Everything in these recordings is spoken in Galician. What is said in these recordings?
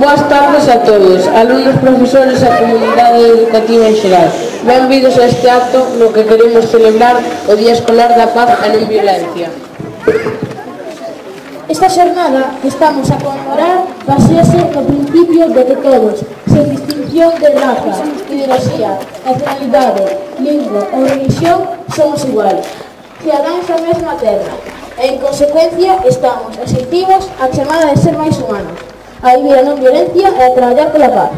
Boas tardes a todos, alumnos, profesores e comunidade educativa en xeral. Benvidos a este acto no que queremos celebrar o Día Escolar da Paz e Non Violencia. Esta xornada que estamos a conmemorar basease no principio de que todos, sen distinción de raza, ideoloxía, nacionalidade, lingua ou religión, somos iguais, cidadáns da mesma terra, e en consecuencia estamos exentivos a chamada de ser máis humanos, a vivir a non violencia e a traballar pola paz.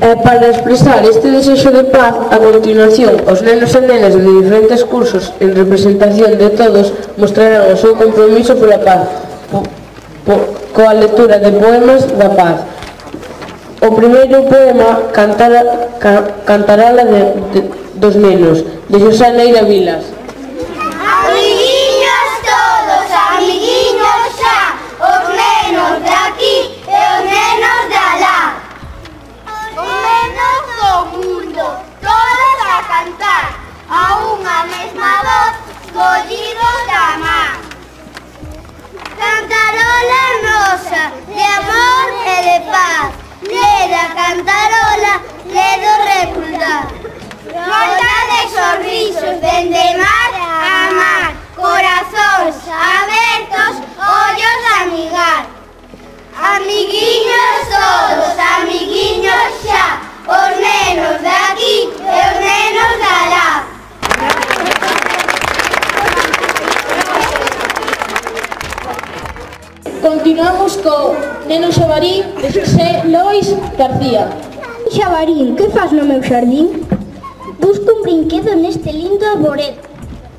Para expresar este desexo de paz, a continuación, os nenos e nenas de diferentes cursos, en representación de todos, mostrarán o seu compromiso pola paz, coa lectura de poemas da paz. O primeiro poema cantarala dos nenos, de Xosé Neira Vilas. Amiguiños todos, amiguiños xa, os nenos de aquí e os nenos de alá. Os nenos do mundo, todos a cantar, a unha mesma voz, collidos da man. Cantarola nosa, de amor e de paz, leda cantarola, ledo recordar. Volta de sorrisos, dende mar a mar, corazóns abertos, ollos a amigar. Amiguiños todos, amiguiños xa, os nenos de aquí e os nenos de alá. Continuamos co Neno Xabarín de Xosé Lois García. Xabarín, que faz no meu xardín? Busco un brinquedo neste lindo arboredo.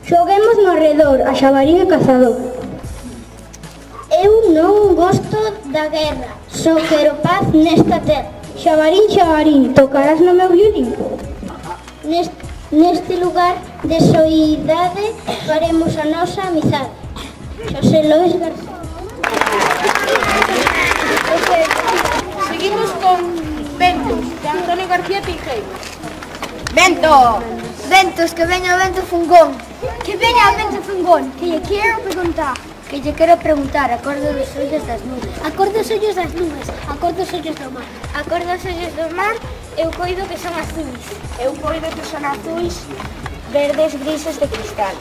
Xoguemos no arredor, a xabarín e cazador. Eu non gosto da guerra, só quero paz nesta terra. Xabarín, xabarín, tocarás no meu violín? Neste lugar de soidade faremos a nosa amizade. Xosé Lois García. Seguimos con Ventos, de Antonio García Teijeiro. Vento! Ventos, que veña o vento fungón. Que veña o vento fungón, que lle quero preguntar. Que lle quero preguntar, a cor dos ollos das nubes. A cor dos ollos das nubes, a cor dos ollos do mar. A cor dos ollos do mar, eu coido que son azuis. Eu coido que son azuis, verdes, grises de cristal.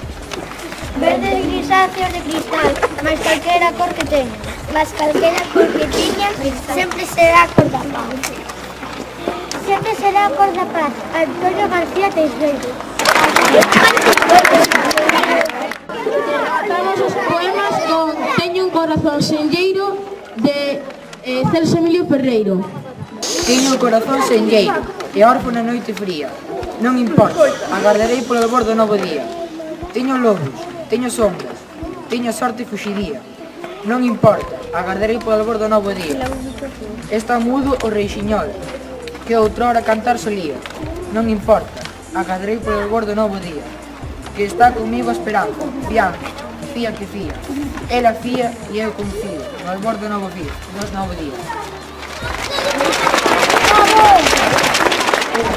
Verdes grisáceos de cristal, mas calquera cor que teña. Mas calquera cor que teña, sempre será a cor da paz. Sempre será a cor da paz. Antonio García Teijeiro. Rematamos os poemas con Teño un corazón senlleiro de Celso Emilio Ferreiro. Teño o corazón senlleiro e orfo na noite fría. Non importa, agardarei polo albor do novo día. Teño lobos, teño sombras, teño sorte e fuxidía. Non importa, agardarei polo albor do novo día. Está mudo o reixiñol, que outrora cantar solía. Non importa, agardarei polo albor do novo día. Que está comigo a esperanza, fiando, fía que fía. Ela fía e eu confío, no albor do novo día.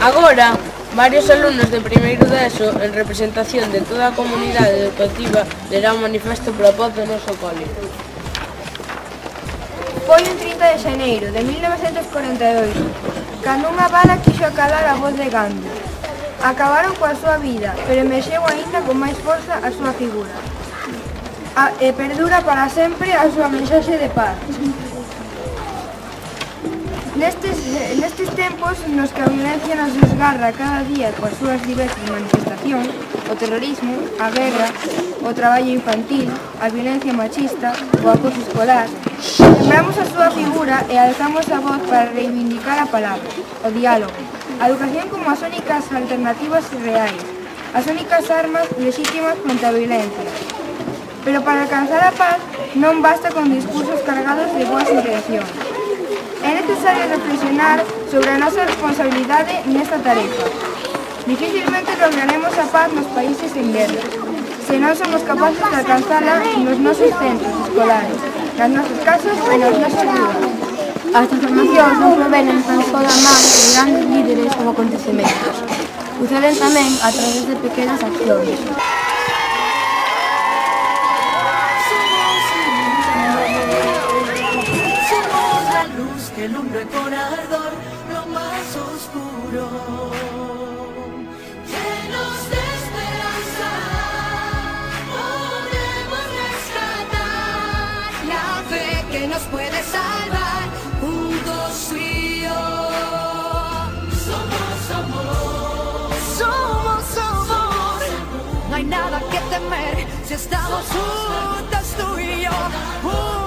Agora, varios alumnos de primeiro de ESO, en representación de toda a comunidade educativa, lerán un manifesto pola paz do noso cole. Foi un 30 de xaneiro de 1948, cando unha bala quixo acalar a voz de Gandhi. Acabaron coa súa vida, pero emerxeu aínda con máis forza a súa figura. E perdura para sempre a súa mensaxe de paz. Nestes tempos nos que a violencia nos desgarra cada día coas súas diversas manifestacións, o terrorismo, a guerra, o traballo infantil, a violencia machista, o acoso escolar, lembramos a súa figura e alzamos a voz para reivindicar a palabra, o diálogo, a educación como as únicas alternativas reais, as únicas armas legítimas contra a violencia. Pero para alcanzar a paz non basta con discursos cargados de boas intencións. É necesario reflexionar sobre a nosa responsabilidade nesta tarefa. Dificilmente lograremos a paz nos países en guerra, se non somos capaces de alcanzala nos nosos centros escolares, nas nosas casas e nas nosas ruas. As transformacións non provenen tan só da man de grandes líderes ou acontecementos. Suceden tamén a través de pequenas accións. luz que lumbre con ardor lo más oscuro. Llenos de esperanza, podemos rescatar la fe que nos puede salvar, juntos tú y yo. Somos amor, somos amor, no hay nada que temer si estamos juntos tú y yo.